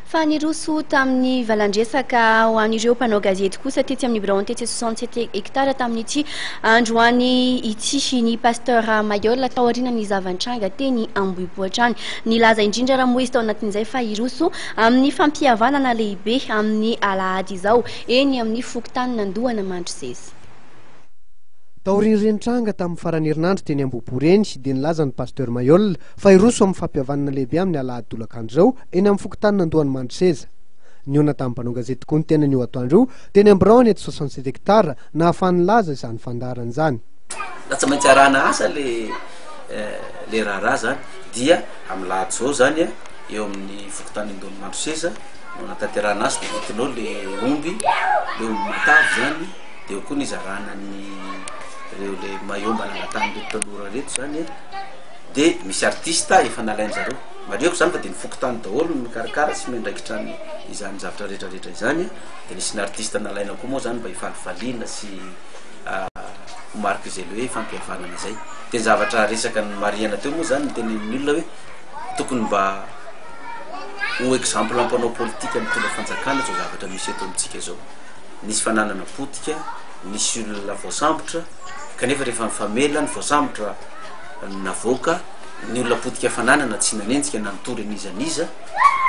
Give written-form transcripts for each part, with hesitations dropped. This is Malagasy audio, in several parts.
Fa niroso tamin'ny valandresaka ho an'ireo mpanao gazety kosa tetsy amin'ny biraony tetsy 67 hectares tamin'ity androany ity ny Pasteur Mailhol taorian'ny zava-nitranga teny Ambohipo hatrany. Nilaza indrindra raha moa izy tao anatin'izay fa hiroso amin'ny fampihavanana lehibe amin'ny alahady izao eny amin'ny fokontanin'Andohana Mandroseza. Taorian'ireny tranga tamin'ny faran'ny herinandro teny Ambohipo ireny dia nilaza ny Pasteur Mailhol fa hiroso amin'ny fampihavanana lehibe amin'ny alahady tolakandro izao eny amin'ny fokontanin'Andohany Mandroseza. Nihaona tamin'ny mpanao gazety koa ny tenany io atoandro io teny amin'ny biraony eto 67 hectares nahafahany nilaza izany fandaharana izany. Raha tsy maintsy arahana asa le le raharaha zany dia amin'ny lahady zao zany a eo amin'ny fokontany Andohany Mandroseza no anatanterahana azy de entinao le omby le omby matavy zany de eo koa ny hizarana ny reo le maillot mba nangatahan'ireto tanora reto zany a de misy artiste efa nalain-jareo marihiko zany fa de ny fokontany daholo no mikarakara sy miandraikitra ny izany zavatra retraretra izany a de nisy ny artiste nalaina koa moa zany mba hifalifaliana sy ho mariky izay le hoe fampihavanana zay de ny zavatra resaka ny marihana teo moa zany ny tenenin'ny olona hoe tokony mba ho exemple mpanao politika mitondra fanjakana zao zavatra misy eto amintsika zao. Nisy fananana potika, nisy olona voasambotra, kanefa rehefa nifamela ny voasambotra navoaka, ny olona potika fananana tsy nanenjika na nitory an'iza n'iza,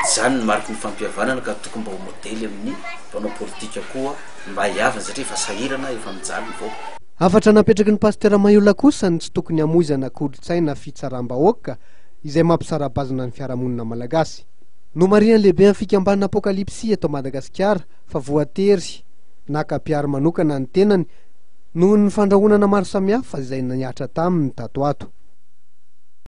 izany no mariky ny fampihavanana ka tokony mba ho modely amin'ny mpanao politika koa mba hihavana satria efa sahirana, efa mijaly ny vahoaka. Hafatra napetraky ny Pasitera Maiola kosa ny tsy tokony hamoizana kolontsaina fitsaram-bahoaka izay mampisara-bazana ny fiarahamonina malagasy. Nomarihan'ny lehiben'ny fikambanana Apokalypsy eto Madagasikara fa voatery naka mpiaro manokana ny tenany noho ny fandrahonana maro samihafa izay nihatra taminy tato ato.